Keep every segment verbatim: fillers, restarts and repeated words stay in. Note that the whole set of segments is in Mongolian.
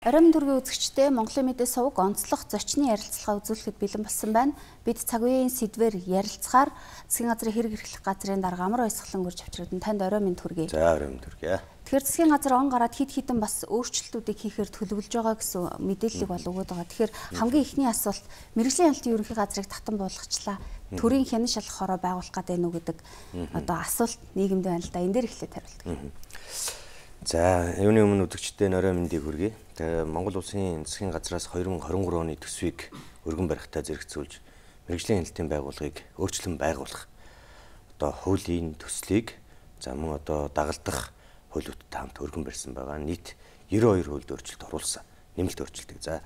Оройн төргийн үзэгчдээ Монголын мэдээ суваг онцлог зочны ярилцлага үзүүлэхэд бэлэн болсон байна. Бид цаг үеийн сэдвээр ярилцахаар засгийн газрын хэрэг эрхлэх газрын дарга амар баясгалан гөрж авчирдан танд оройн төргий. За оройн төргий. Тэгэхээр засгийн газар он гараад хид хідэн бас өөрчлөлтүүдийг хийхээр төлөвлөж байгаа гэсэн мэдээллийг бол өгöd байгаа. Тэгэхээр хамгийн ихний асуулт мэргэжлийн ялтын ерөнхий газрыг татан буулгачлаа. Төрийн хянан шалгах хороо байгуулах гэдэг нь үү гэдэг одоо асуулт нийгэмд байна л да. Энэ дээр эхлээд хариулдаг. За, юуны өмнө үзэгчдээ оройн мэндийг хүргэе. Тэгээ Монгол улсын засгийн газраас хоёр мың хорин гурван оны төсвийг өргөн барихтаа зэрэгцүүлж мэргэжлийн хяналтын байгууллагыг өөрчлөн байгуулах одоо хуулийн төслийг за мөн одоо дагалдах хуулиудтай хамт өргөн барьсан байгаа. Нийт девяносто хоёр хуульд өөрчлөлт оруулсан. Нэмэлт өөрчлөлтийг. За,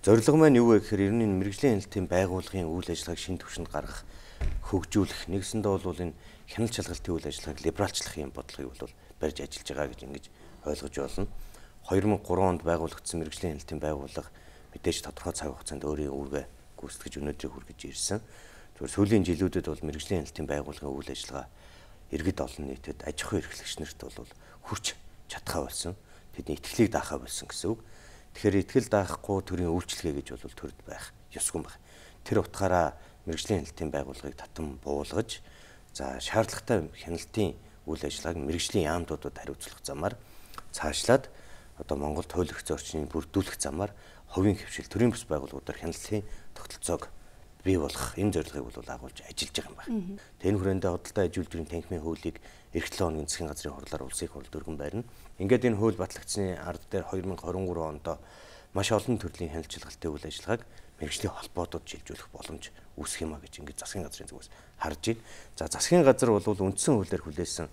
зорилго маань юу вэ гэхээр ер нь мэргэжлийн хяналтын байгууллагын үйл ажиллагааг шинэ түвшинд гаргах, хөгжүүлэх, нэгсэндээ бол энэ хяналт шалгалтын үйл ажиллагааг либералчлах юм бодлогыг бол барьж ажиллаж байгаа гэж ингэж ойлгож байна. хоёр мың гурван онд байгуулагдсан мэргэжлийн хяналтын байгууллага мэдээж тодорхой цаг хугацаанд өөрийн үүргээ гүйцэтгэж өнөөдрийг хүргэж ирсэн. Тэгвэл сүүлийн жилүүдэд бол мэргэжлийн хяналтын байгууллагын үйл ажиллагаа иргэд олон нийтэд аж ахуй эрхлэгч нарт бол хүрч чадхаа болсон. Тэдний итгэлийг даахаа болсон гэсэн үг. Тэгэхээр итгэл даахгүй төрийн үйлчлэгээ гэж бол төрд байх ёсгүй байна. Тэр утгаараа мэргэжлийн хяналтын байгууллагыг татан буулгаж за шаардлагатай хяналтын үйл ажиллагааг мэргэжлийн яамдуудад хариуцлах замаар цаашлаад одоо Монголд хууль эрх зүйн орчныг бүрдүүлэх замаар хувийн хвшил төрийн бүс байгууллагуудаар хяналтын тогтолцоог бий болгох энэ зорилгыг бол агуулж ажиллаж байгаа юм байна. Тэн хүрээндээ худалдаа аж үйлдвэрийн танхимын хуулийг эх долоо хоногийн засгийн газрын хурлаар улсын хурлд өргөн барина. Ингээд энэ хууль батлагдсны ард дээр хоёр мың хорин гурван онд маш олон төрлийн хяналт шалгалтын үйл ажиллагааг мэргэжлийн холбоотод шилжүүлэх боломж үүсэх юм а гэж ингээд засгийн газрын зүгээс харж байна. За засгийн газар бол үндсэн хуулиар хүлээсэн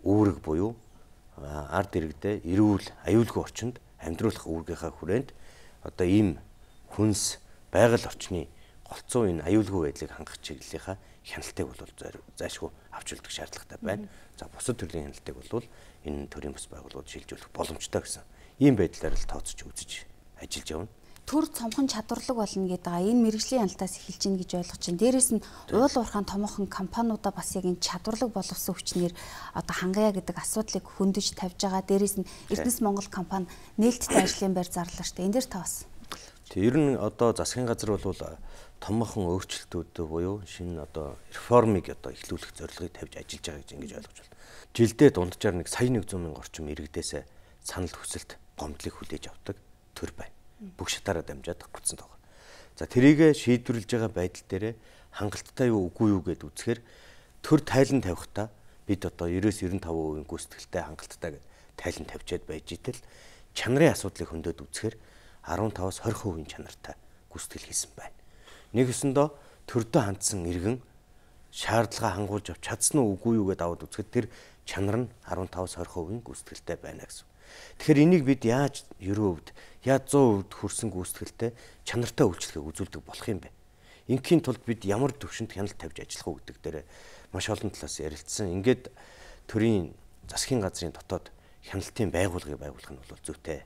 үүрэг буюу ард иргэдээ эрүүл аюулгүй орчинд амьдруулах үүргийнхаа хүрээнд одоо ийм хүнс байгаль орчны голцоо энэ аюулгүй байдлыг хангах чиглэлийнхаа хяналтыг бол зайлшгүй авч үлдэх шаардлагатай байна. За бусад төрлийн хяналтыг бол энэ төрийн бас байгууллагууд шилжүүлэх боломжтой гэсэн ийм байдлаар л тооцож үзэж ажиллаж явна. Төр цомхон чадварлаг болно гэдэг байгаа. Энэ мэргэжлийн хяналтаас эхэлж гин гэж ойлгож байна. Дээрээс нь уул уурхаан томоохон компаниудаа бас яг энэ чадварлаг боловсон хүчнэр одоо хангая гэдэг асуудлыг хөндөж тавьж байгаа. Дээрээс нь Эрдэнэс Монгол компани нээлттэй ажлын байр зарлаа штэ. Энэ дээр та бас. Тэг ер нь одоо засгийн газар бол томоохон өөрчлөлтүүд буюу шинэ одоо реформыг одоо эхлүүлэх зорилгыг тавьж ажиллаж байгаа гэж ингэж ойлгож байна. Жилдээ дунджаар нэг сая нэгдүгээр мянган орчим иргэдээс санал хүсэлт гомдлыг хүлээж авдаг төр байна. Бүх шатаараа дамжаад гарцсан байгаа. За тэрийг шийдвэрлэж байгаа байдал дээр хангалттай юу үгүй юу гэд үзэхээр төр тайлан тавихтаа бид одоо девяносто девяносто пять хувийн гүйцэтгэлтэй хангалттай гэд тайлан тавьчаад байж итэл чанарын асуудлыг хөндөд үзэхээр арван таваас хорин хувийн чанартай гүйцэтгэл хийсэн байна. Нэгэсэндээ төрдөө хандсан иргэн шаардлага хангуулж авч чадсан уу үгүй юу гэд аваад үзэхэд тэр чанар нь арван таваас хорин хувийн гүйцэтгэлтэй байна гэсэн. Тэгэхээр энийг бид яаж ерөө хувьд яаж сто хувьд хүрсэн гүйцэтгэлтэй чанартай үйлчлэгийг үзүүлдэг болох юм бэ? Инхийн тулд бид ямар төвшөнд хяналт тавьж ажиллах уу гэдэг дээр маш олон талаас ярилцсан. Ингээд төрийн засгийн газрын дотоод хяналтын байгууллагыг байгуулах нь бол зүйтэй.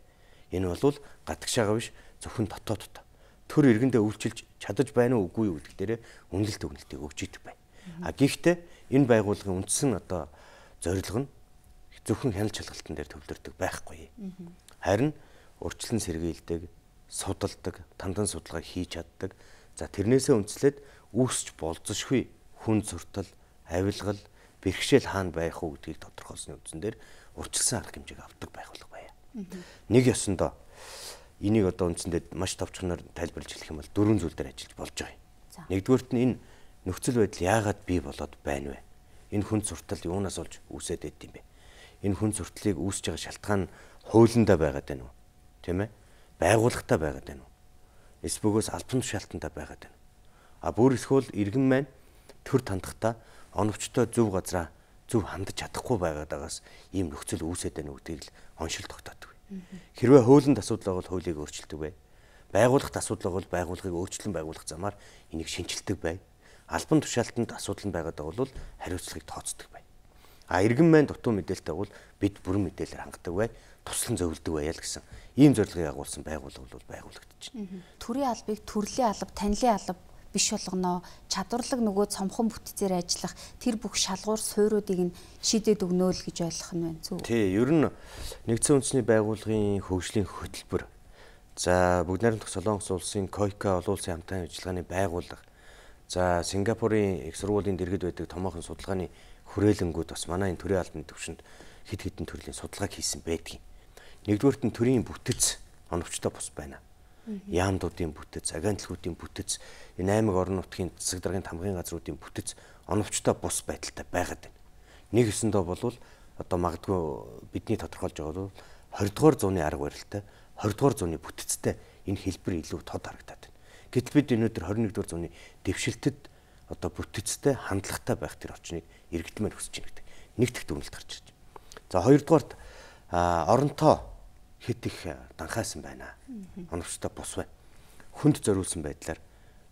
Энэ бол гадагшаага биш зөвхөн дотооддоо. Төр иргэндээ үйлчилж чадаж байна уу үгүй юу гэдэг дээр үнэлэлт өгнөлтийг өгч идэг байна. А гэхдээ энэ байгууллагын үндсэн одоо зорилго нь зөвхөн хяналт шалгалтын дээр төвлөрдөг байхгүй. Харин урьдчилан сэргийлдэг, судалдаг, тандан судалгаа хийж чаддаг. За тэрнээсээ үндслээд үүсч болзошгүй хүн суртал, авилгал, бэрхшээл хаана байх уу гэдгийг тодорхойлсны үндсэн дээр урьдчилсан арга хэмжээг авдаг байгууллага байя. Нэг ёсондоо энийг одоо үндсэндээ маш товчхоноор тайлбарлаж хэлэх юм бол дөрвөн зүйл дээр ажиллаж болж байгаа. Нэгдүгээрт нь энэ нөхцөл байдал яагаад бий болоод байна вэ? Энэ хүн суртал юунаас олж үүсээд байд юм бэ? Энэ хүн суртлыг үүсэж байгаа шалтгаан нь хуулиндаа байгаад байна уу? Тийм ээ? Байгууллагатай байгаад байна уу? Эсбөгөөс албан тушаалтантай байгаад байна. А бүр эсвэл иргэн маань төр тандахтаа оновчтой зөв газараа зөв хандаж чадахгүй байгаад байгаас ийм нөхцөл үүсээд байна гэдгийг л оншил тогтоодог. Хэрвээ хуулинд асуудал бол хуулийг өөрчилдөг бай. Байгууллагт асуудал бол байгууллагыг өөрчлөн байгуулах замаар энийг шинжилдэг бай. Албан тушаалтанд асуудал нь байгаад байгаа бол хариуцлагыг тооцдог бай. А иргэн маань дутуу мэдээлэлтэй бол бид бүрэн мэдээлэлээр хангадаг бай, туслан зөвлөдөг байя л гэсэн ийм зорилгыг агуулсан байгууллага бол байгуулагдаж байна. Төрийн албыг төрлийн алба, танилын алба биш болгоно, чадварлаг нөгөө цомхон бүтцээр ажиллах тэр бүх шалгуур суурьуудыг нь шийдээд өгнө л гэж ойлгох нь байна зү. Тий, ер нь нэгдсэн үндэсний байгууллагын хөгжлийн хөтөлбөр За бүгд найрамдах Солонгос улсын койка олон улсын хамтын ажиллагааны байгууллага. За Сингапурын их сургуулийн дэргэд байдаг томоохон судалгааны хүрээлэнгүүд бас манай энэ төрийн албаны төвшөнд хэд хэдэн төрлийн судалгааг хийсэн байдгийг. Нэгдүгээрт нь төрийн бүтэц оновчтой бус байна. Яамдуудын бүтэц, агентлагуудын бүтэц, энэ аймаг орон нутгийн засаг даргын тамгын газруудын бүтэц оновчтой бус байдалтай байгаад байна. Нэг өсөндөө болвол одоо магадгүй бидний тодорхойлж байгаа бол двадцать дугаар зууны арга барилтай, двадцать дугаар зууны бүтэцтэй энэ хэлбэр илүү тод харагдаад байна. Гэтэл бид өнөөдөр двадцать нэгдүгээр зууны дэвшилтэд одоо бүтэцтэй хандлагатай байх тэр орчныг эргэлдмээр хүсэж байна гэдэг нэг дэх дүгнэлт гарч ирж байна. За хоёрдугаарт оронтоо хэд их данхайсан байна. Оновчтой бус байна. Хүнд зориулсан байдлаар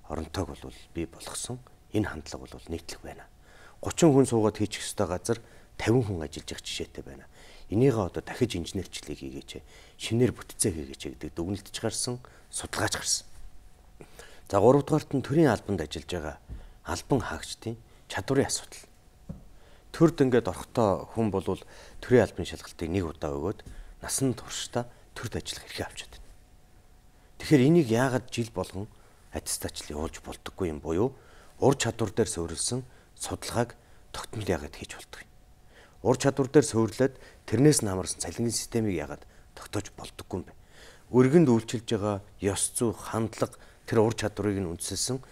оронтойг бол бий болгосон. Энэ хандлага бол нийтлэг байна. гучин хүн суугаад хийчих ёстой газар тавин хүн ажиллаж явах жишээтэй байна. Энийгээ одоо дахиж инженерчлэг хийгээч, шинээр бүтцээ хийгээч гэдэг дүгнэлтж гарсан, судалгааж гарсан. За гуравдугаарт нь төрийн албанд ажиллаж байгаа албан хаагчдын чадварын асуудал. Төрд ингээд орохдоо хүн болвол төрийн албаны шалгалтыг нэг удаа өгөөд насан туршдаа төрд ажиллах эрхээ авчаад байна. Тэгэхээр энийг яагаад жил болгон аттестатчл явуулж болдоггүй юм буюу ур чадвар дээр суурилсан судалгааг тогтмол яагаад хийж болдгоо юм. Ур чадвар дээр суурилаад тэрнээс нь хамаарсан цалингийн системийг яагаад тогтоож болдоггүй юм бэ? Өргөнд үйлчилж байгаа ёс зүй, хандлага тэр ур чадварыг нь үндэслэн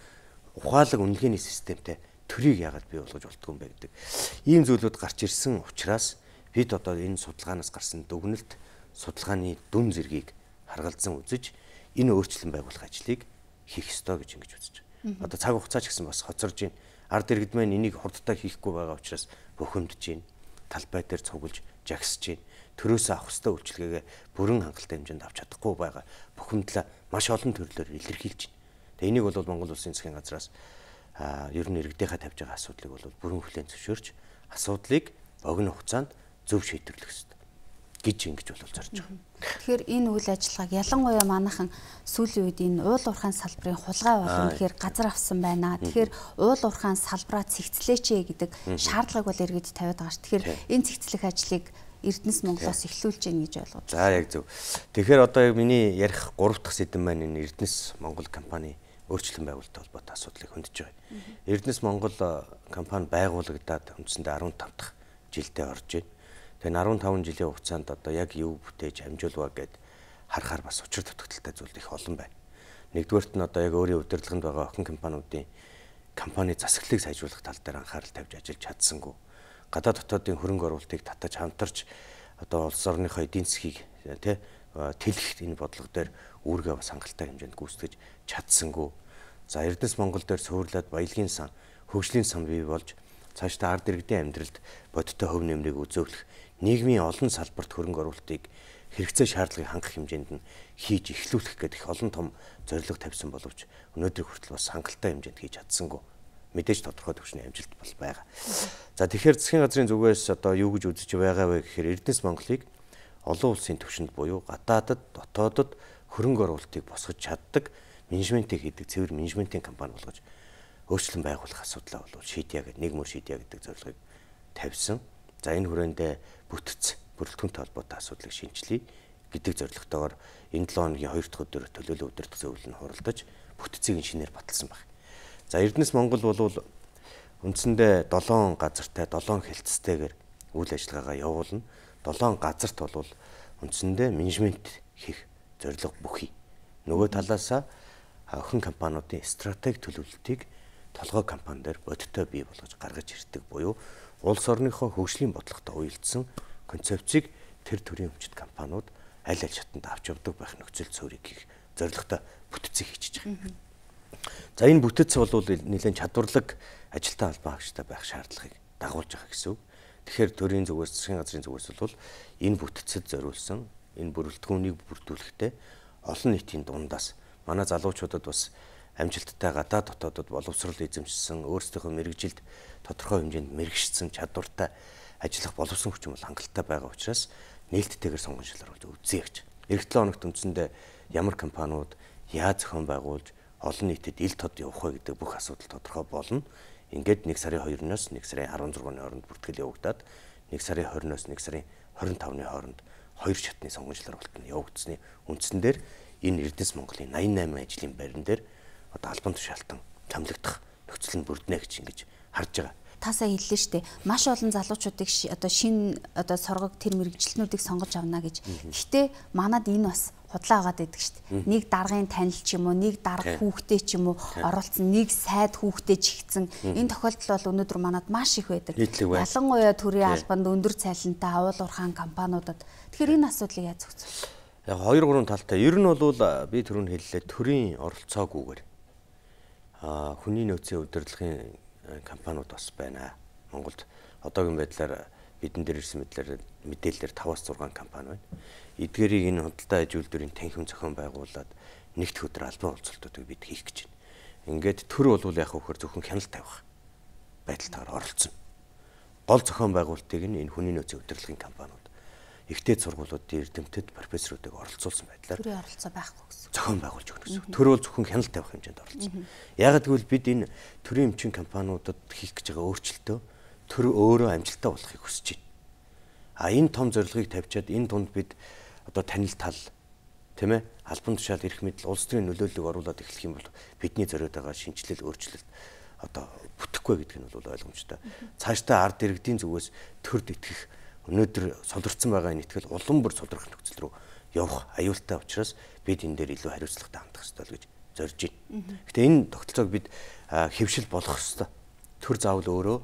ухаалаг үнэлгээний системтэй төрийг яагаад бий болгож болдгоо юм бэ гэдэг ийм зүйлүүд гарч ирсэн учраас бид одоо энэ судалгаанаас гарсан дүгнэлт, судалгааны дүн зэргийг харгалзан үзэж энэ өөрчлөлт байгуулах ажлыг хийх ёстой гэж ингэж үзэж байна. Одоо цаг хугацаа ч гэсэн бас хоцорж байна. Ард иргэд маань энийг хурдтай хийхгүй байгаа учраас бухимдж байна. Талбай дээр цуглаж, жагсаж байна. Төрөөсөө авах ёстой үйлчилгээгээ бүрэн хангалттай хэмжээнд авч чадахгүй байгаа бухимдлаа маш олон төрлөөр илэрхийлж байна. Тэгээ энийг бол Монгол Улсын засгийн газраас а ер нь иргэдийнхаа тавьж байгаа асуудлыг бол бүрэн хүлээн зөвшөөрч асуудлыг богино хугацаанд зөв шийдвэрлэх ёстой гэж ингэж бол зорж байгаа. Тэгэхээр энэ үйл ажиллагааг ялангуяа манайхан сүүлийн үед энэ уул уурхайн салбарын хулгай болон тэгэхээр газар авсан байна. Тэгэхээр уул уурхайн салбараа цэгцлээч гэдэг шаардлагыг бол иргэд тавиад байгаа ш. Тэгэхээр энэ цэгцлэх ажлыг Эрдэнэс Монголоос эхлүүлж гин гэж ойлгож байна. За яг зөв. Тэгэхээр одоо миний ярих гурав дахь сэдэв маань энэ Эрдэнэс Монгол компани өөрчлөлт байгуулалттай холбоотой асуудлыг хөндөж байгаа. Эрдэнэс Монгол компани байгуулагдаад үндсэндээ арван тав дахь жилдээ орж байна. Тэгээ арван таван жилийн хугацаанд одоо яг юу бүтээж амжуулваа гэд харахаар бас учир дутагдaltaй зүйл их олон байна. Нэгдүгээрт нь одоо яг өөрийн удирдлаганд байгаа охин компаниудын компани засаглалыг сайжруулах тал дээр анхаарал тавьж ажиллаж чадсангүй. Гадаад дотоодын хөрөнгө оруулалтыг татаж хамтарч одоо улс орныхоо эдийн засгийг тий тэлэх энэ бодлого дээр үүргээ бас хангалттай хэмжээнд гүйцэтгэж чадсангүй. За Эрдэнэс Монгол дээр суурлаад баялагын сан, хөгжлийн сан бий болж цаашдаа ард иргэдийн амьдралд бодиттой хөв нэмрийг үзүүлэх, нийгмийн олон салбарт хөрөнгө оруулалтыг хэрэгцээ шаардлагыг хангах хэмжээнд нь хийж эхлүүлэх гэдэг их олон том зорилго тавьсан боловч өнөөдрийг хүртэл бас хангалттай хэмжээнд хийж чадсангүй. Мэдээж тодорхой төвчний амжилт бол байгаа. За тэгэхээр засгийн газрын зүгээс одоо юу гэж үзэж байгаа вэ гэхээр Эрдэнэс Монголыг олон улсын түвшинд буюу гадаадад, дотоодод хөрөнгө оруулалтыг босгож чаддаг менежментийг хийдэг цэвэр менежментийн компани болгож өөрчлөлт байгуулах асуудлаа бол шийдъя гэдэг нэг мөр шийдъя гэдэг зорилгыг тавьсан. За энэ хүрээндээ бүтц бүрэлдэхүүнтэй холбоотой асуудлыг шинжилье гэдэг зорилготойгоор энэ долоо хоногийн хоёр дахь өдөр төлөөлөл удирдах зөвлөл нь хуралдаж бүтцийг шинээр баталсан байна. За Эрдэнэс Монгол бол үндсэндээ долоон газартай, долоон хэлтстэйгээр үйл ажиллагаагаа явуулна. долоон газарт бол үндсэндээ менежмент хийх зорилго бүхий. Нөгөө талаасаа охин компаниудын стратеги төлөвлөлтийг толгой компани дээр бодиттой бий болгож гаргаж ирдэг буюу улс орныхоо хөгжлийн бодлоготой уялдсан концепцийг тэр төрлийн өмчит компаниуд аль аль шатанд авч явдаг байх нөхцөл цөөрийг хийх зорилготой бүтцийг хийчихэж байгаа. За энэ бүтэц бол нэлээд чадварлаг ажилтан албан хаагчтай байх шаардлагыг дагуулж байгаа гэсэн үг. Тэгэхээр төрийн зүгээс, засгийн газрын зүгээс бол энэ бүтэцэд зориулсан энэ бүрэлдэхүүнийг бүрдүүлэхдээ олон нийтийн дундаас манай залуучуудад бас амжилттай гадаад дотоодод боловсрол эзэмшсэн, өөрсдийнхөө мэрэгжилд тодорхой хэмжээнд мэрэгшсэн чадвартай ажиллах боловсон хүчин бол хангалттай байгаа учраас нээлттэйгээр сонгон шалгаруулж үзье гэж. Эх долоо хоногт үндсэндээ ямар компаниуд яаж зохион байгуулж олон нийтэд ил тод явах вэ гэдэг бүх асуудал тодорхой болно. Ингээд нэг сарын хоёрноос нэг сарын арван зургааны хооронд бүртгэл явагдаад нэг сарын хориноос нэг сарын хорин тавны хооронд хоёр шатны сонгон шалгаруулалт нь явагдсны үндсэн дээр энэ Эрдэнэс Монголын найман восемь ажлын байран дээр одоо албан тушаалтан томилогдох нөхцөл нь бүрднэ гэж ингэж харж байгаа. Тасаа хэллээ шүү дээ. Маш олон залуучуудыг одоо шинэ одоо соргог тэр мэрэгчлэнүүдийг сонгож авна гэж. Гэхдээ манад энэ бас худлаа байгаад байдаг шүү дээ. Нэг даргын танил ч юм уу, нэг дарга хүүхдээ ч юм уу оролцсон, нэг сайд хүүхдээ жигцэн. Энэ тохиолдол бол өнөөдөр манад маш их байдаг. Ялангуяа төрийн албанд өндөр цалинтай авал уурхаан компаниудад. Тэгэхээр энэ асуудлыг яаж зохицуулах? Яг хоёр гурван талтай. Ер нь бол би түрүүн хэллээ төрийн оролцоогүйгээр а хүний нөөцийн удирдлагын компаниуд бас байна. Монголд одоогийн байдлаар бидэн дээр ирсэн мэдлэр мэдээлэлээр таваас зургаан компани байна. Эдгээрийг энэ худалдаа аж үйлдвэрийн танхим зохион байгуулад нэгдэх өдөр албан олцолтуудыг бид хийх гэж байна. Ингээд төр бол яг хөхөр зөвхөн хяналт тавих байдалтаар оролцсон. Гол зохион байгуулалтыг нь энэ хүний нөөцийн удирдлагын компаниуд ихтэй сургуулиудын эрдэмтэд профессоруудыг оролцуулсан байдлаар төрийн оролцоо байхгүй гэсэн. Зохион байгуулж өгнө гэсэн. Төр бол зөвхөн хяналт тавих хэмжээнд оролцсон. Яг гэвэл бид энэ төрийн эмчийн компаниудад хийх гэж байгаа өөрчлөлтөө төр өөрөө амжилттай болохыг хүсэж байна. А энэ том зорилгыг тавьчаад энэ тунд бид одоо танил тал тийм ээ албан тушаал эрх мэдэл улс төрийн нөлөөллийг оруулаад эхлэх юм бол бидний зориод байгаа шинжилэл өөрчлөлт одоо бүтэхгүй гэдг нь бол ойлгомжтой. Цаашдаа ард иргэдийн зүгээс төрд итгэх өнөөдөр содорцсон байгаа энэ итгэл улам бүр содорох нөхцөл рүү явах аюултай учраас бид энэ дээр илүү хариуцлагатай хандах ёстой л гэж зорж байна. Гэтэ энэ тогтолцоог бид хэвшил болгох ёстой. Төр заавал өөрөө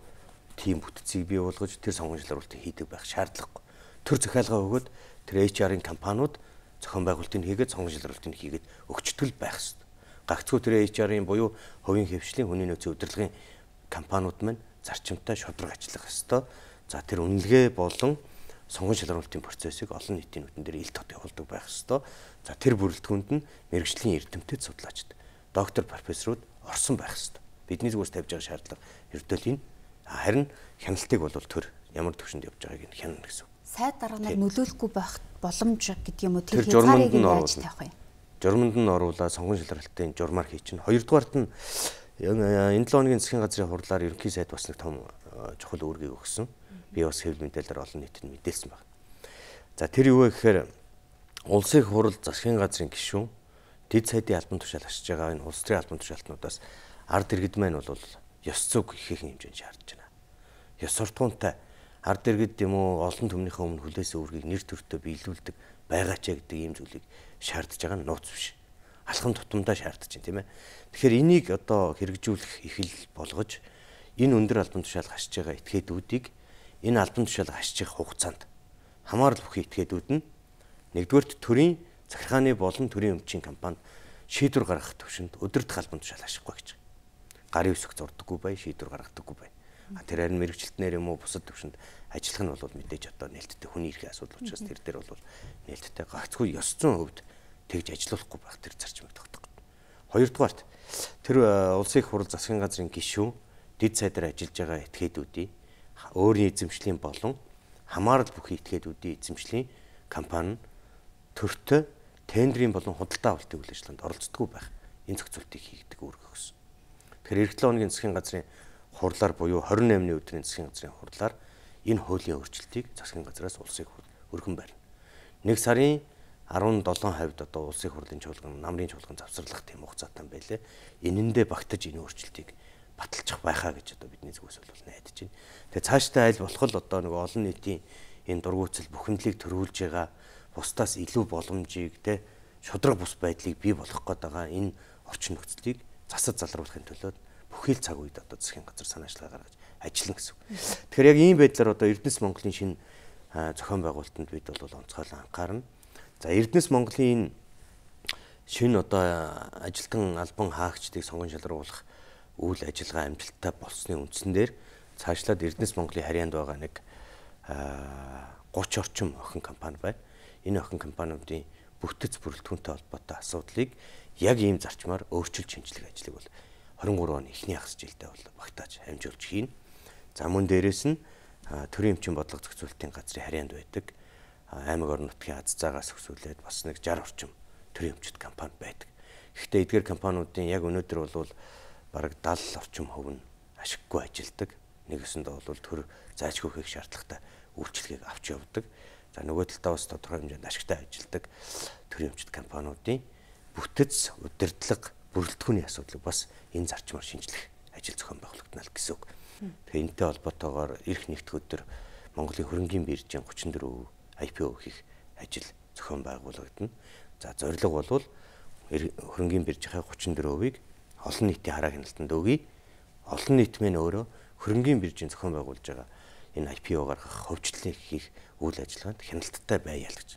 тийм бүтцийг бий болгож тэр сонгуульчлал уралтыг хийдэг байх шаардлагагүй. Төр захиалга өгөөд тэр эйч ар-ын компаниуд зохион байгуулалтыг хийгээд сонгуульчлал уралтыг хийгээд өгчтгөл байх ёстой. Гагцхүү тэр эйч ар-ын буюу хувийн хвшлийн хүний нөөцийн удирдлагын компаниуд маань зарчимтай шударга ажиллах ёстой. За тэр үнэлгээ болон сонгон шалралтын процессыг олон нийтийн нүдэн дээр ил тод явуулдаг байх ёстой. За тэр бүрэлдэхүүнд нь мэрэгжлийн эрдэмтэд судлаачид, доктор, профессорууд орсон байх ёстой. Бидний зүгээс тавьж байгаа шаардлага ердөө энэ. Харин хяналтыг бол төр ямар төвшөнд явж байгааг нь хянана гэсэн. Сайд дарганаар нөлөөлөхгүй байх боломж гэдэг юм уу? Тэр хязгаарыг яаж тавих вэ? Журманд нь оруулаад сонгон шалралтын журмаар хий чинь. Хоёрдугаарт нь энэ долоо хоногийн засгийн газрын хурлаар ерөнхий сайд бас нэг том чухал үүргийг өгсөн. Би бас хэвлэл мэдээлэлээр олон нийтэд мэдээлсэн байна. За тэр юу вэ гэхээр улсын хурал засгийн газрын гишүүн дэд сайдын албан тушаал ашиж байгаа энэ улс төрийн албан тушаалтнуудаас ард иргэд маань бол ёс зүйг ихээхэн хэмжээнд шаардж байна. Ёс суртахуунтай ард иргэд юм уу олон түмнийхээ өмнө хүлээсэн үүргийг нэр төртөө биелүүлдэг байгаач гэдэг ийм зүйлийг шаардж байгаа нь нууц биш. Алхам тутамдаа шаардж байна тийм ээ. Тэгэхээр энийг одоо хэрэгжүүлэх их л болгож энэ өндөр албан тушаал хашиж байгаа этгээдүүдийг энэ албан тушаал хашчих хугацаанд хамаарал бүхий этгээдүүд нь нэгдүгээрт төрийн захиргааны болон төрийн өмчийн компанид шийдвэр гаргах төвшөнд өдөртөх албан тушаал хашихгүй гэж. Гарын үсэг зурдаггүй бай, шийдвэр гаргадаггүй бай. Тэр харин мэрэгчлэлтнэр юм уу бусад төвшөнд ажиллах нь бол мэдээж одоо нээлттэй хүний эрхийн асуудал учраас тэр дээр бол нээлттэй гагцгүй ёс зүйн хувьд тэгж ажиллахгүй байх тэр зарчмыг тогтоох. Хоёрдугаарт тэр улсын их хурал засгийн газрын гишүүн дэд сайдаар ажиллаж байгаа этгээдүүдийн өөрийн эзэмшлийн болон хамаарал бүхий этгээдүүдийн эзэмшлийн компани төртөө тендерийн болон худалдаа авалтын үйл ажиллагаанд оролцдоггүй байх энэ зохицуултыг хийгдэг үүрэг өгсөн. Тэгэхээр эх долоо хоногийн засгийн газрын хурлаар буюу хорин наймны өдрийн засгийн газрын хурлаар энэ хуулийн өөрчлөлтийг засгийн газраас улсын өргөн барина. Нэг сарын арван долоон хавьд одоо улсын хурлын чуулган, намрын чуулган завсарлах тийм хугацаатай байлээ. Энэндээ багтаж энэ өөрчлөлтийг баталчих байхаа гэж одоо бидний зүгээс бол найдаж байна. Тэгээ цаашдаа аль болох л одоо нэг олон нийтийн энэ дургуутсал бүхэмдлийг төрүүлж байгаа бусдаас илүү боломжийг те шудраг бус байдлыг бий болгох гээд байгаа энэ орчин нөхцөлийг засаж залруулахын төлөө бүхий л цаг үед одоо засгийн газар санаачлага гаргаж ажиллана гэсэн. Тэгэхээр яг ийм байдлаар одоо Эрдэнэс Монголын шинэ зохион байгуулалтанд бид бол онцгойлон анхаарна. За Эрдэнэс Монголын шинэ одоо ажилтан албан хаагчдыг сонгон шалруулах үйл ажиллагаа амжилттай болсны үндсэн дээр цаашлаад Эрдэнэс Монголын харьяанд байгаа нэг гуч орчим охин компани байна. Энэ охин компаниудын бүтэц бүрэлдэхүүнтэй холбоотой асуудлыг яг ийм зарчмаар өөрчилж шинжлэх ажлыг бол хорин гурван оны эхний хагас жилдээ бол багтааж хамжуулж хийн. За мөн дээрэс нь төрийн эмчийн бодлого зохицуулалтын газрын харьяанд байдаг аймаг орон нутгийн аз заагаас өсвөлээд бас нэг шарх орчим төрийн эмчит компани байдаг. Гэхдээ эдгээр компаниудын яг өнөөдөр бол бараг даатал орчим хөв нь ашиггүй ажилдаг. Нэгэсэндээ бол төр заажгүй хийх шаардлагатай үйлчлэгийг авч явдаг. За нөгөө талдаа бас тодорхой хэмжээнд ашигтай ажилдаг төрийн эмчит компаниудын бүтэц, удирдлага, бүрэлдэхүүний асуудлыг бас энэ зарчмаар шинжлэх ажил зохион байгуулагдана л гэсэн үг. Тэгэхээр энэтэй холбоотойгоор эх нэгдэх өдөр Монголын хөрөнгийн биржийн гучин дөрөв ай пи о хийх ажил зохион байгуулагдана. За зорилго бол хөрөнгийн биржийнхаа гучин дөрөвийг олон нийтийн хараа хяналтанд өгье. Олон нийт мэн өөрөө хөрөнгийн биржийн зохион байгуулж байгаа энэ ай пи о гаргах хөгжлөлийг хийх үйл ажиллагаанд хяналттай байя л гэж.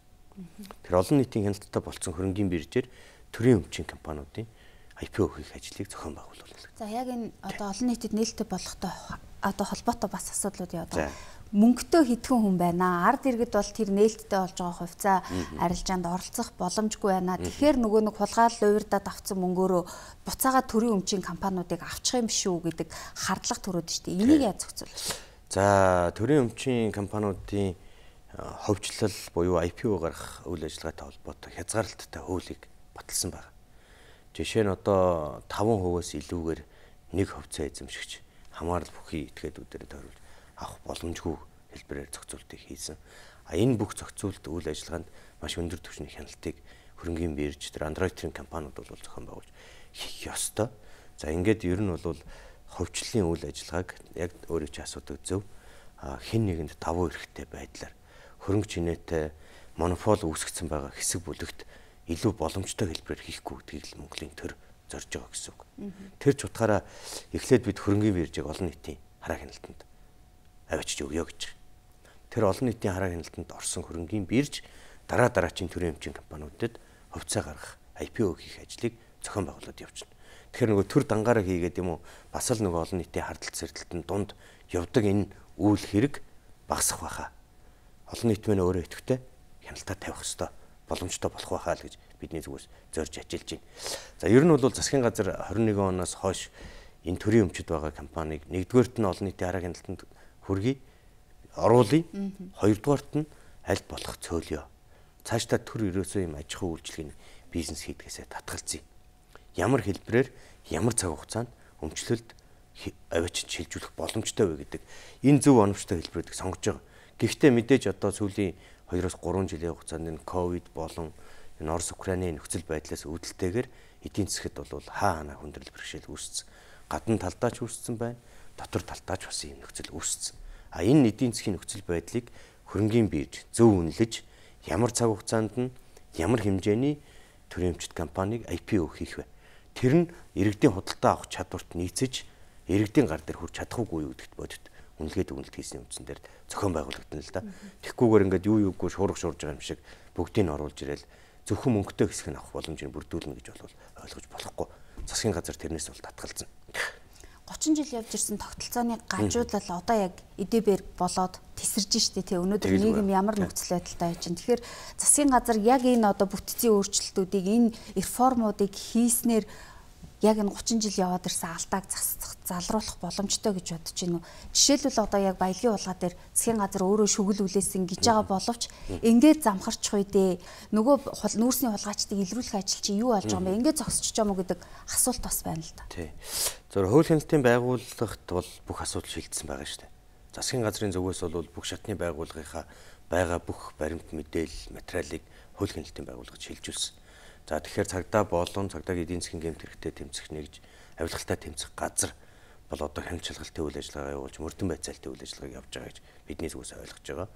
Тэр олон нийтийн хяналттай болсон хөрөнгийн биржээр төрийн өмчийн компаниудын ай пи о хийх ажлыг зохион байгуулуулна. За яг энэ одоо олон нийтэд нээлттэй болохтой одоо холбоотой бас асуудлууд яа одоо мөнгөтэй хитгэн хүн байна. Ард иргэд бол тэр нээлттэй болж байгаа хувьцаа арилжаанд оролцох боломжгүй байна. Тэгэхээр нөгөө нэг хулгаал уурдаад авсан мөнгөөрөө буцаага төрийн өмчийн компаниудыг авчих юм шүү гэдэг хардлага төрөөд штэ. Энийг яаж зохицуулах вэ? За төрийн өмчийн компаниудын ховжлол буюу ай пи о гаргах үйл ажиллагаатай холбоотой хязгаарлалттай хуулийг баталсан байна. Жишээ нь одоо таван хувиас илүүгээр нэг хувьцаа эзэмшигч хамаарал бүхий этгээдүүдээр тойруулж авах боломжгүй хэлбэрээр зохицуултыг хийсэн. А энэ бүх зохицуулт үйл ажиллагаанд маш өндөр түвшний хяналтыг хөрөнгийн бирж тэр андроидын компаниуд бол зохион байгуулж хийх ёстой. За ингээд ер нь бол ховчлолын үйл ажиллагааг яг өөрөө ч асуудаг зөв хэн нэгэнд давуу эрхтэй байдлаар хөрөнгө чинээтэй монопол үүсгэсэн байгаа хэсэг бүлэгт илүү боломжтой хэлбэрээр хийхгүй гэдгийг л Монголын төр зорж байгаа гэсэн үг. Тэр ч утгаараа эхлээд бид хөрөнгийн биржийг олон нийтийн хараа хяналтанд авчиж өгье гэж. Тэр олон нийтийн хараа хяналтанд орсон хөрөнгийн бирж дараа дараачийн төрийн өмчийн компаниудад хувьцаа гаргах ай пи о хийх ажлыг зохион байгуулад явчихна. Тэгэхээр нөгөө төр дангаараа хийгээд юм уу бас л нөгөө олон нийтийн хардтал сэрдэлтэн дунд явдаг энэ үйл хэрэг багасах байхаа. Олон нийт мэн өөрөө идэвхтэй хяналтаа тавих ёстой боломжтой болох байхаа л гэж бидний зүгээс зорж ажиллаж байна. За ер нь бол засгийн газар хорин нэгэн оноос хойш энэ төрийн өмчөд байгаа компанийг нэгдүгээрт нь олон нийтийн хараа хяналтанд хүргэе, оруулъя. Хоёрдугаарт нь аль болох цөөлөё. Цаашдаа төр ерөөсөө юм аж ахуй үйлчилгээний бизнес хийдгээсээ татгалзъя. Ямар хэлбэрээр ямар цаг хугацаанд өмчлөлд авчиж шилжүүлэх боломжтой вэ гэдэг энэ зөв оновчтой хэлбэрүүдийг сонгож байгаа. Гэхдээ мэдээж одоо сүүлийн хоёроос гурван жилийн хугацаанд энэ ковид болон энэ Орос Украины нөхцөл байдлаас үүдэлтэйгээр эдийн засгт бол хаа ханаа хүндрэл бэрхшээл үүссэн. Гадна талдаа ч үүссэн байна. Дотор талдаа ч бас ийм нөхцөл үүссэн. А энэ эдийн засгийн нөхцөл байдлыг хөрөнгийн бирж зөв үнэлж ямар цаг хугацаанд нь ямар хэмжээний төрийн өмчт компанийг ай пи о хийх вэ? Тэр нь иргэдийн худалдаа авах чадварт нийцэж иргэдийн гар дээр хүрч чадах уугүй юу гэдэгт бодит үнэлгээд үнэлт хийсний үндсэн дээр зохион байгуулагдана л да. Тэгхгүйгээр ингээд юу юугүй шуурга шуурж байгаа юм шиг бүгдийг нь оруулж ирэл зөвхөн мөнгөтэй хэсэг нь авах боломжийг бүрдүүлнэ гэж бол ойлгож болохгүй. Засгийн газар тэрнээс бол татгалзсан. гучин жил явж ирсэн тогтолцооны гажуудлал одоо яг эдбэр болоод тесэрж штэ тий өнөөдөр нийгэм ямар нөхцөл байдалтай байж байна. Тэгэхээр засгийн газар яг энэ одоо бүтцийн өөрчлөлтүүдийг энэ реформуудыг хийснээр яг энэ гучин жил яваад ирсэн алдааг залруулах боломжтой гэж бодож байна уу? Жишээлбэл одоо яг баялагын улгаа дээр засгийн газар өөрөө шүгэл үлээсэн гэж байгаа боловч ингээд замхарчих үедээ нөгөө нүүрсний хулгайчдыг илрүүлэх ажил чинь юу болж байгаа юм бэ? Ингээд зогсчих юм уу гэдэг асуулт бас байна л да. Тий. Зөв хууль хяналтын байгууллагт бол бүх асуудал шийдсэн байгаа шүү дээ. Засгийн газрын зүгээс бол бүх шатны байгууллагынхаа байгаа бүх баримт мэдээлэл материалыг хууль хяналтын байгууллагад шилжүүлсэн. За тэгэхээр цагдаа болон цагдаагийн эдийн засгийн гэмт хэрэгтээ тэмцэх нэгж авилгалтай тэмцэх газар бол одоо хяналт шалгалтын үйл ажиллагаа явуулж мөрдөн байцаалтын үйл ажиллагааг явуулж байгаа гэж бидний зүгээс ойлгож байгаа.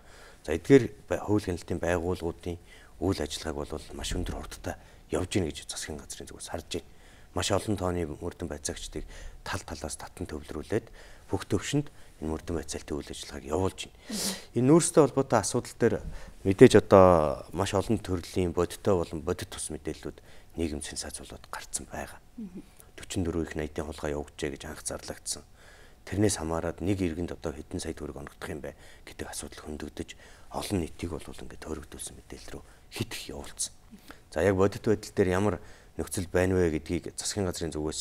За эдгээр хууль хяналтын байгууллагуудын үйл ажиллагааг бол маш өндөр хурдтай явж гин гэж засгийн газрын зүгээс харж байна. Маш олон тооны мөрдөн байцаагчдыг тал талаас татан төвлөрүүлээд бүх төвшөнд энэ мөрдөн байцаалтын үйл ажиллагааг явуулж байна. Энэ нүүрстэй холбоотой асуудал дээр мэдээж одоо маш олон төрлийн бодиттой болон бодит тус мэдээллүүд нийгэм сенсацуулаад гарцсан байгаа. forty four их найдын хулгай явуулжээ гэж анх зарлагдсан. Тэрнээс хамаарад нэг иргэнд одоо хэдэн сая төгрөг оногдох юм бэ гэдэг асуудал хөндөгдөж олон нийтийг бол ингээд төрөгдүүлсэн мэдээлэл рүү хит их явуулсан. За яг бодит байдал дээр ямар нөхцөл байна вэ гэдгийг засгийн газрын зүгээс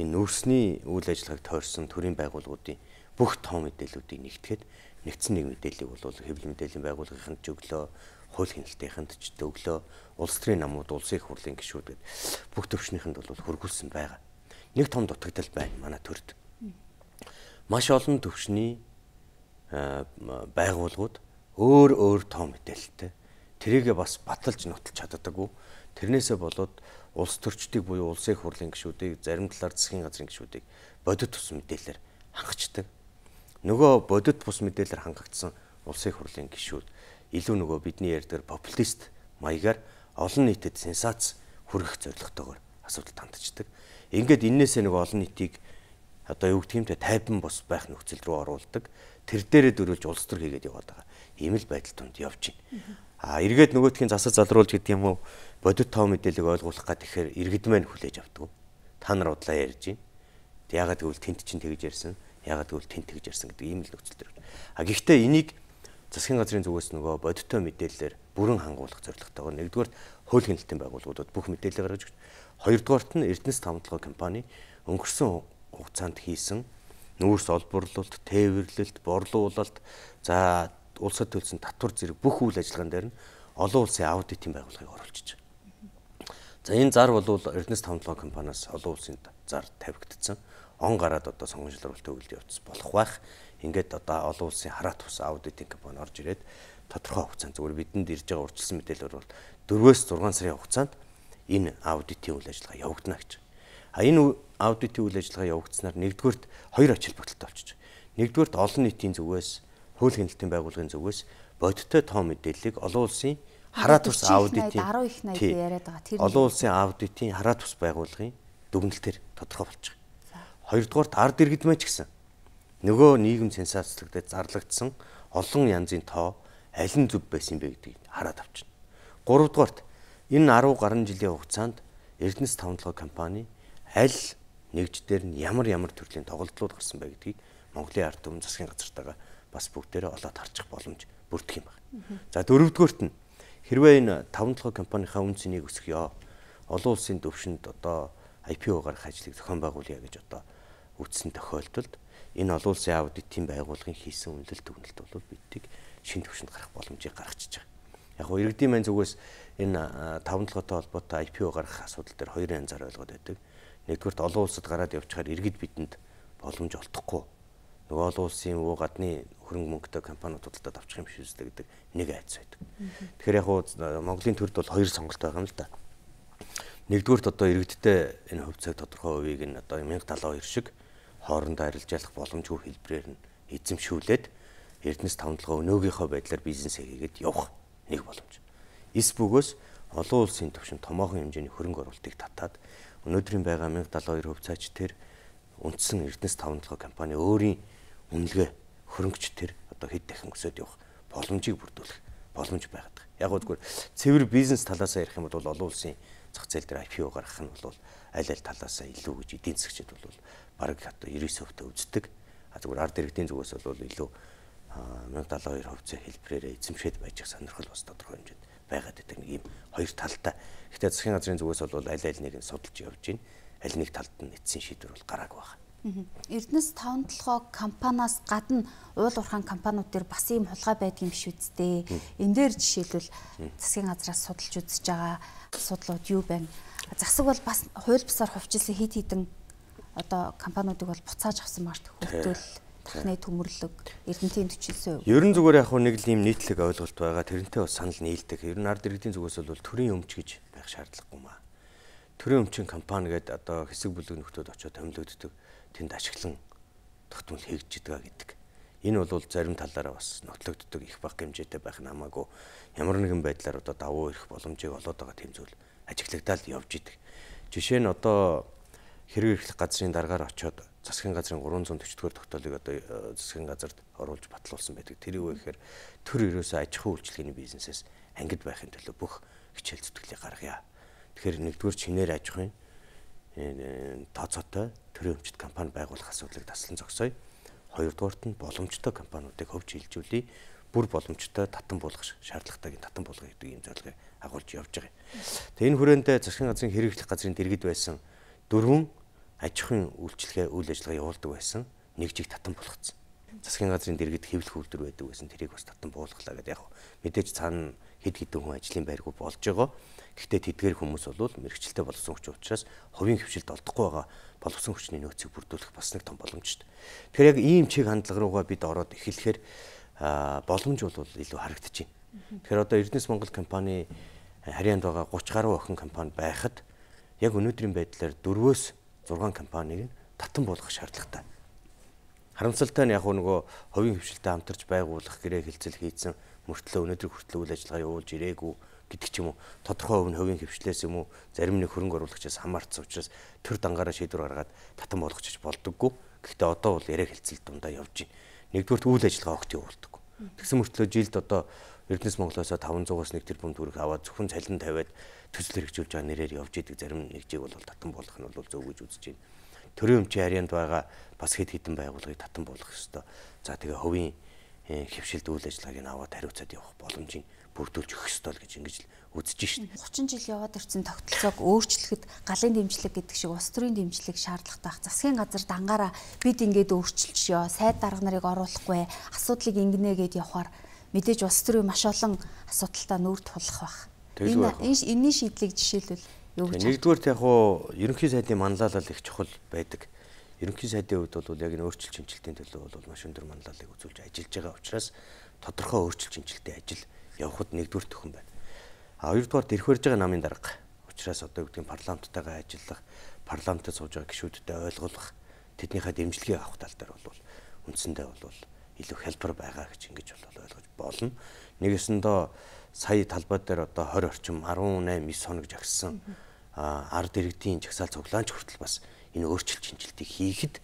энэ нүүрсний үйл ажиллагааг тойрсон төрийн байгууллагуудын бүх тоо мэдээллүүдийг нэгтгэхэд нэгдсэн нэг мэдээллийг бол хэвлэл мэдээллийн байгууллагынханд ч өглөө, хууль хяналтынханд ч өглөө, улс төрийн намууд, улсын их хурлын гишүүдэд бүх төвшнийхэнд бол хөргүүлсэн байгаа. Нэг том дутагдал байна манай төрд. Маш олон төвшний байгууллагууд өөр өөр тоо мэдээлэлтэй тэрийгэ бас баталж нотолж чаддаггүй. Тэрнээсээ болоод улс төрчдийг буюу улсын их хурлын гишүүдийг, зарим талаар засгийн газрын гишүүдийг бодит тус мэдээлэлээр хангачдаг. Нөгөө бодит бус мэдээлэлээр хангагдсан улсын их хурлын гишүүд илүү нөгөө бидний ярьдаг популист маягаар олон нийтэд сенсац хүргэх зорилготойгоор асуудалд хандчихдаг. Ингээд энээсээ нөгөө олон нийтийг одоо юу гэх юм те тайван бос байх нөхцөл рүү оруулдаг. Тэр дээрээ дөрүүлж улс төр хийгээд яваад байгаа. Ийм л байдал тунд явж байна. А эргээд нөгөөдхийн засаж залруулж гэдэг юм уу бодит тоо мэдээллийг ойлгуулах гад тэгэхээр иргэд маань хүлээж авдаг. Та нар удлаа ярьж байна. Яагаад гэвэл тент чинь тэгж ярьсан. Яагаад гэвэл тент тэгж ярьсан гэдэг ийм л нөхцөл төр. А гэхдээ энийг засгийн газрын зүгээс нөгөө бодит тоо мэдээллээр бүрэн хангуулах зорилготойгоор нэгдүгээр хууль хяналтын байгууллагуудад бүх мэдээлэл гаргаж өгч, хоёрдугаарт нь Эрдэнэс тавталгай компани өнгөрсөн хугацаанд хийсэн нүүрс олборлолт, тээвэрлэлт, борлуулалт, за улсад төлсөн татвар зэрэг бүх үйл ажиллагаан дээр нь олон улсын аудитын байгууллагыг оруулж байгаа. За энэ зар бол Эрдэнэс тавталгай компаниас олон улсын зар тавигдсан. Он гараад одоо сонгомжлолт төвлөлд явц болох байх. Ингээд одоо олон улсын хараат тус аудитын компани орж ирээд тодорхой хугацаанд зүгээр бидэнд ирж байгаа урьдчилсан мэдээлэлээр бол дөрвөөс зургаан сарын хугацаанд энэ аудитын үйл ажиллагаа явагдана гэж. А энэ аудитын үйл ажиллагаа явагдсанаар нэгдүгürt хоёр ач холбогдолтой болчих. Нэгдүгürt олон нийтийн зүгээс, хууль хяналтын байгууллагын зүгээс бодиттой тоо мэдээллийг олон улсын хараат тус аудитын олон улсын аудитын хараат тус байгууллагын дүгнэлтээр тодорхой болчих. Хоёрдугаарт ард иргэд мэ ч гэсэн нөгөө нийгэм сенсацлагдаад зарлагдсан олон янзын тоо аль нь зөв байсан бэ гэдгийг хараад авчна. Гуравдугаарт энэ арван гаруй жилийн хугацаанд Эрдэнэс тавталгай компани аль нэгждэр нь ямар ямар төрлийн тоглолтууд гарсан бэ гэдгийг Монголын ард түмэн засгийн газартайгаа бас бүгдээрээ олоод харчих боломж бүрдэх юм байна. За дөрөвдүгээрт нь хэрвээ энэ тавталгай компанийнхаа үн цэнийг өсгөё, олон улсын төвшөнд одоо ай пи о гаргах ажлыг зохион байгуулъя гэж одоо үтсэн тохиолдолд энэ олон улсын аудитын байгууллагын хийсэн үнэлэлт дүгнэлт бол биднийг шин төвшөнд гарах боломжийг гаргачихж байгаа. Яг нь иргэдийн маань зүгээс энэ тавталгайтай холбоотой ай пи о гаргах асуудал дээр хоёр янзаар ойлгоод байдаг. Нэгдүгээр олон улсад гараад явчихаар иргэд бидэнд боломж олдохгүй. Нөгөө олон улсын уу гадны хөрөнгө мөнгөтэй компаниуд худалдаад авчих юм биш үстэй гэдэг нэг айц байдаг. Тэгэхээр яг нь Монголын төрд бол хоёр сонголт байгаа юм л да. Нэгдүгээрт одоо иргэдтэй энэ хувь цаг тодорхой хувийг нь одоо мянга талаа хоёр шиг хоорондоо арилжаалах боломжгүй хэлбэрээр нь эзэмшүүлээд Эрдэнэс тавталгай өнөөгийнхөө байдлаар бизнес хийгээд явах нэг боломж. Эс бөгөөс олон улсын түвшинд томоохон хэмжээний хөрөнгө оруулалтыг татаад өнөөдрийн байгаа мянга талаа хоёр хувь цаач тэр үндсэн Эрдэнэс тавталгай компани өөрийн үнэлгээ хөрөнгөч тэр одоо хэд дахин өсөд явах боломжийг бүрдүүлэх боломж байгаад байгаа. Яг нь зүгээр цэвэр бизнес талаас ярих юм бол олон улсын зах зээл дээр ай пи о гаргах нь бол аль аль талаас илүү гэж эдийн засгчид бол бараг одоо девяносто процент үздэг. А зүгээр ард иргэдийн зүгээс бол илүү мянга талаа хоёр хувьцаа хэлбэрээр эзэмшээд байж их сонирхол бас тодорхой хэмжээнд байгаад байдаг нэг юм хоёр талтай. Гэхдээ засгийн газрын зүгээс бол аль аль нэг нь судалж явж байна. Аль нэг талд нь эцсийн шийдвэр бол гараагүй байна. Эрдэнэс тавталгай компаниас гадна уул уурхайн компаниуд дээр бас ийм хулгай байдгийн биш үсттэй. Энэ дээр жишээлбэл засгийн газраас судалж үзэж байгаа асуудлууд юу байна? Засаг бол бас хууль бусаар хувьчилсан хид хідэн одоо компаниудыг бол буцааж авсан март хөвтөл тахны төмөрлөг Эрдэнэтийн төчилсөн. Ерөн зүгээр яг нэг л ийм нийтлэг ойлголт байгаа. Тэрнтэй бас санал нийлдэг. Ер нь ард иргэдийн зүгээс бол төрийн өмч гэж байх шаардлагагүй маа. Төрийн өмчийн компани гэдэг одоо хэсэг бүлэг нөхдөөд очиод томилогддог. Тэнд ашиглан тогтмол хийгдэж байгаа гэдэг. Энэ бол зарим талаараа бас нотлогддог их бага хэмжээтэй байх нь хамаагүй ямар нэгэн байдлаар одоо давуу ирэх боломжийг олоод байгаа тийм зүйл ажиглагдаад явж идэг. Жишээ нь одоо хэрэг эрхлэх газрын дараагаар очиод засгийн газрын гурван зуун төчтгөр тогтоолыг одоо засгийн газарт оруулж батлуулсан байдаг. Тэр юу вэ гэхээр төр ерөөсөө аж ахуй үйлчилгээний бизнесээс ангид байхын төлөө бүх хичээл зүтгэлийг гаргая. Тэгэхээр нэгдүгээр чинээр аж ахуйн тооцоотой төрийн өмчт компани байгуулах асуудлыг таслан зогсоё. Хоёрдугаарт нь боломжтой компаниудыг хөвж хилжүүлээ. Бүр боломжтой татан буулгах шаардлагатайг татан буулгах гэдэг ийм зорилгыг агуулж явж байгаа юм. Тэгээ энэ хүрээндээ засгийн газрын хэрэг эрхлэх газрын дэргэд байсан дөрвөн аж ахуйн үйлчилгээ үйл ажиллагаа явуулдаг байсан нэгжийг татан буулгацсан. Засгийн газрын дэргэд хэвлэх үйлдвэр байдаг байсан тэрийг бас татан буулгалаа гэдэг яг мэдээж цаана хэд хэдэн хүн ажлын байргүй болж байгаа. Гэхдээ тэдгээр хүмүүс бол мэрэгчлээ болсон хүч учраас хувийн хөвшилд олдохгүй байгаа боловсон хүчний нөөцийг бүрдүүлэх бас нэг том боломж шүү дээ. Тэгэхээр яг ийм чиг хандлага руугаа бид ороод эхлэхээр боломж бол илүү харагдаж байна. Тэгэхээр одоо Эрдэнэс Монгол компани харьяанд байгаа гурван гаруй охин компани байхад яг өнөөдрийн байдлаар дөрвөөс зургаан компанийг татан болгох шаардлагатай. Харамсалтай нь яг нөгөө хувийн хөвшилтэд хамтарч байгуулах гэрээ хэлцэл хийсэн мөртлөө өнөөдөр хүртэл үйл ажиллагаа явуулж ирээгүй гэдэг ч юм уу, тодорхой хувь нь хувийн хөвшлээс юм уу, зарим нэг хөрөнгө оруулагчаас хамаарсан учраас төр дангаараа шийдвэр гаргаад татан болгочих болдоггүй. Гэхдээ одоо бол яриа хэлцэл дундаа явж байна. Нэгдүгээр үйл ажиллагаа огт явуулдаггүй. Тэгсэн мөртлөө жилд одоо Эрдэнэс Монголоос таван зугаас нэг тэрбум төгрөг аваад зөвхөн цалин тавиад төсөл хэрэгжүүлж байгаа нэрээр явж идэг зарим нэгжийг бол татан болгох нь бол зөв гэж үзэж байна. Төрийн өмчийн харьяанд байгаа бас хэд хэдэн байгууллагыг татан болгох ёстой. За тэгээ хувийн хөвшилд үйл ажиллагааг нь аваад хариуцаад явах боломжийг бүрдүүлж өгөх ёстой л гэж ингэж л үзэж шин. гучин жил яваад ирсэн тогтолцоог өөрчлөхөд галын дэмжлэг гэдэг шиг улс төрийн дэмжлэг шаардлагатай байх. Засгийн газар дангаараа бид ингээд өөрчилчихё, сайд дарга нарыг оруулахгүй, асуудлыг ингэнэ гэд явахаар мэдээж улс төрийн маш олон асуудалтай нүүр тулах байх. Энэ энэний шийдлийг жишээлбэл юу гэж? Нэгдүгээрт яг хуу ерөнхий сайдын манлайлал их чухал байдаг. Ерөнхий сайдын хувьд бол яг энэ өөрчлөлт шинжилтийн төлөө бол маш өндөр манлайлалыг үзүүлж ажиллаж байгаа учраас тодорхой өөрчлөлт шинжилтийн ажил явахд нэгдүгээр төхөн байна. А хоёрдугаар ирэх барьж байгаа намын дарга учраас одоо юу гэдгийг парламенттайгаа ажиллах, парламентд сууж байгаа гишүүдэд ойлгуулах, тэднийхээ дэмжлэгийг авах тал дээр бол үндсэндээ бол илүү хялбар байгаа гэж ингэж бол ойлгож болно. Нэгэсэндээ сая талбай дээр одоо тwenty орчим арван eight нine хоног жагссан ард иргэдийн жагсаал цуглаанч хүртэл бас энэ өөрчлөлт шинжилтийг хийхэд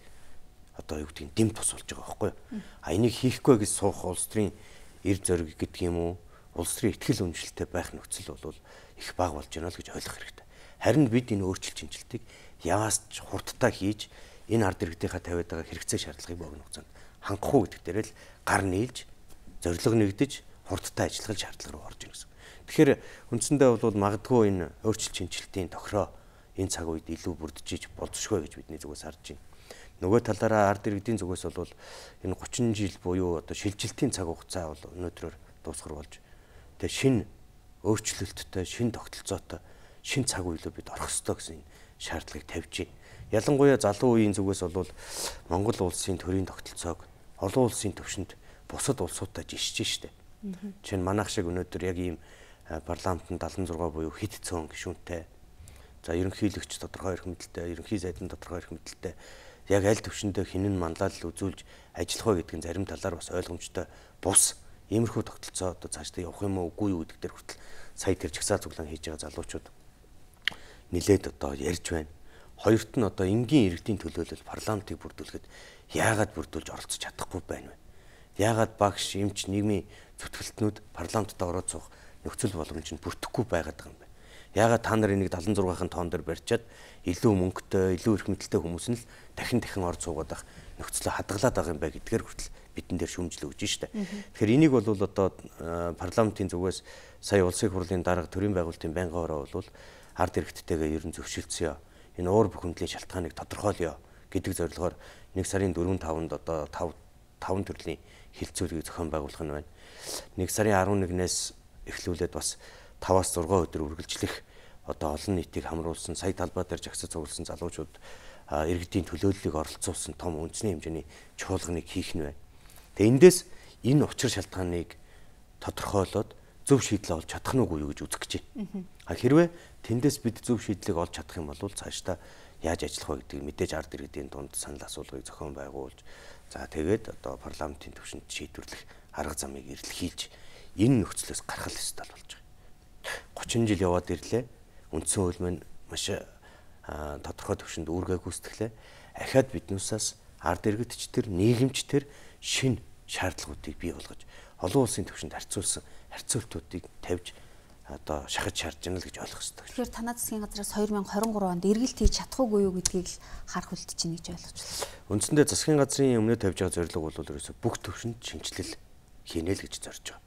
одоо юу гэдгийг дэм тус болж байгаа байхгүй юу? А энийг хийхгүй гэж суух улс төрийн эр зориг гэдэг юм уу? Улс төрийн ихтгэл үнэмшилтэй байх нөхцөл бол их бага болж байна л гэж ойлгох хэрэгтэй. Харин бид энэ өөрчлөлт шинжилтийг яваас ч хурдтай хийж энэ ард иргэдийнхаа тавиад байгаа хэрэгцээ шаардлагыг богино хугацаанд хангах уу гэдэг дээр л гар нийлж, зорилго нэгдэж, хурдтай ажиллах шаардлага руу орж ирнэ гэсэн. Тэгэхээр үндсэндээ бол магадгүй энэ өөрчлөлт шинжилтийн тохироо энэ цаг үед илүү бүрдэж болзошгүй гэж бидний зүгээс харж байна. Нөгөө талаараа ард иргэдийн зүгээс бол энэ гучин жил буюу одоо шилжилтийн цаг хугацаа бол өнөөдрөөр дуусгар болж тэгээ шинэ өөрчлөлттэй, шинэ тогтолцоотой, шинэ цаг үеийг бид орох ёстой гэсэн шаардлагыг тавьж байна. Ялангуяа залуу үеийн зүгээс бол Монгол улсын төрийн тогтолцоог олон улсын төвшөнд бусад улсуудтай жишж штэ. Жишээ нь манайх шиг өнөөдөр яг ийм парламентын seventy-six буюу хэд цөөн гишүүнтэй, за ерөнхийлөгч тодорхой эрх мэдэлтэй, ерөнхий сайдын тодорхой эрх мэдэлтэй яг аль төвшөндөө хинэн манлайлал үзүүлж ажиллах вэ гэдгийг зарим талаар бас ойлгомжтой бус иймэрхүү тогтолцоо одоо цаашдаа явах юм уу үгүй юу гэдэг дээр хүртэл сая тэр жагсаал цуглаан хийж байгаа залуучууд нилээд одоо ярьж байна. Хоёрт нь одоо энгийн иргэдийн төлөөлөл парламентыг бүрдүүлэхэд яагаад бүрдүүлж оролцож чадахгүй байна вэ? Яагаад багш, эмч, нийгмийн зүтгэлтнүүд парламентд ороод суух нөхцөл боломж нь бүрдэхгүй байгаад байгаа юм бэ? Яагаад та нар энийг seventy-six-ын тоон дээр барьчаад илүү мөнгөтэй, илүү эрх мэдэлтэй хүмүүс нь л дахин дахин орж суугаад байх нөхцөлөө хадгалаад байгаа юм байна гэдгээр хүртэл бидэн дээр шүүмжил өгж штэ. Тэгэхээр энийг бол одоо парламентын зүгээс сая улсын хурлын дарга төрийн байгуулалтын байнгын хороо бол ард иргэдтэйгээ ер нь зөвшөлдсөн. Энэ уур бүхэмдлийн шалтгааныг тодорхойлё гэдэг зорилгоор нэг сарын four five-нд одоо five five төрлийн хилцүүлгийг зохион байгуулах нь байна. нэг сарын eleven-ээс эхлүүлээд бас five-аас six өдөр үргэлжлэх одоо олон нийтийг хамруулсан сая талбай дээр жагсаж цугласан залуучууд иргэдийн төлөөллийг оролцуулсан том үндэсний хэмжээний чуулганыг хийх нь байна. Тэгээ эндээс энэ учир шалтгааныг тодорхойлоод зөв шийдэл олж чадах нь үгүй юу гэж үзэх гэж байна. А хэрвээ тэндээс бид зөв шийдлийг олж чадах юм бол цаашдаа яаж ажиллах вэ гэдгийг мэдээж ард иргэдийн дунд санал асуулгыг зохион байгуулж, за тэгээд одоо парламентын түвшинд шийдвэрлэх арга замыг эрэлхийлж энэ нөхцлөөс гаргах ёстой болж байгаа. thirty жил яваад ирлээ. Үндсэн хууль маань маш тодорхой түвшинд үүргээ гүйцэтгэлээ. Ахаад биднүүсээс ард иргэдчдэр, нийгэмчдэр шинэ шаардлагуудыг бий болгож олон улсын түвшинд харьцуулсан харьцуултуудыг тавьж одоо шахаж шаардж байна л гэж ойлгох хэрэгтэй. Тэгэхээр танай засгийн газраас twenty twenty-three онд эргэлт хийж чадахгүй юу гэдгийг л харах үлдэж байна гэж ойлгож байна. Үндсэндээ засгийн газрын өмнө тавьж байгаа зорилго бол ерөөсө бүх түвшинд шинжилэл хийнэ л гэж зорж байгаа.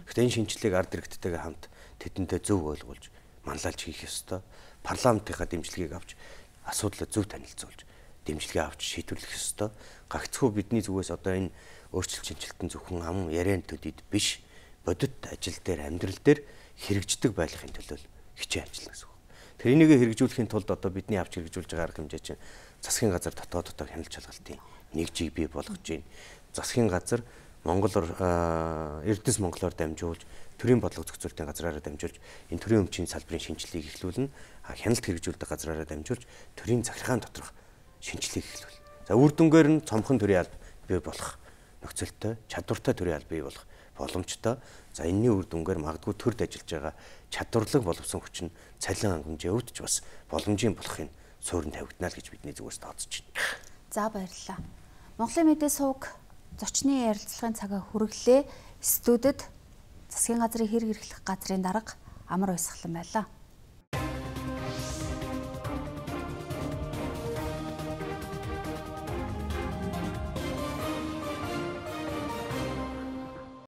Гэхдээ энэ шинжилгээг ард иргэдтэйгээ хамт тэдэнтэй зөв ойлгуулж, манлайлж хийх ёстой. Парламентынхаа дэмжлэгийг авч асуудлаа зөв танилцуулж, дэмжлэгээ авч шийдвэрлэх ёстой. Гагцхүү бидний зүгээс одоо энэ өөрчлөлт шинжилтэн зөвхөн ам яриан төдийд биш, бодит ажил дээр, амьдрал дээр хэрэгждэг байхын төлөө хичээн ажиллана гэсэн үг. Тэр энийг хэрэгжүүлэхийн тулд одоо бидний авч хэрэгжүүлж байгаа арга хэмжээ чинь засгийн газар дотооддоо хяналт шалгалтын нэгжийг бий болгож байна. Засгийн газар Монголоор Эрдэнэс Монголоор дамжуулж, төрийн бодлого зохицуулалтын газраараа дамжуулж энэ төрийн өмчийн салбарын шинжилгээг эхлүүлнэ. Хяналт хэрэгжүүлдэг газраараа дамжуулж төрийн захиргаан доторх шинжилгээг эхлүүл. За үр дүнгээр нь цомхон төрийн алба бий болох нөхцөлтэй, чадвартай төрийн алба бий болох боломжтой. За энэний үр дүнгээр магадгүй төрд ажиллаж байгаа чадварлаг боловсон хүчин цалин хангамжийн өвд ч бас боломжийн болохын суурин тавигдана л гэж бидний зүгээс тооцож байна. За баярлалаа. Монголын мэдээ сувг зочны ярилцлагын цагаа хүргэлээ. Студид засгийн газрын хэрэг эрхлэх газрын дарга Амар Баясгалан байлаа.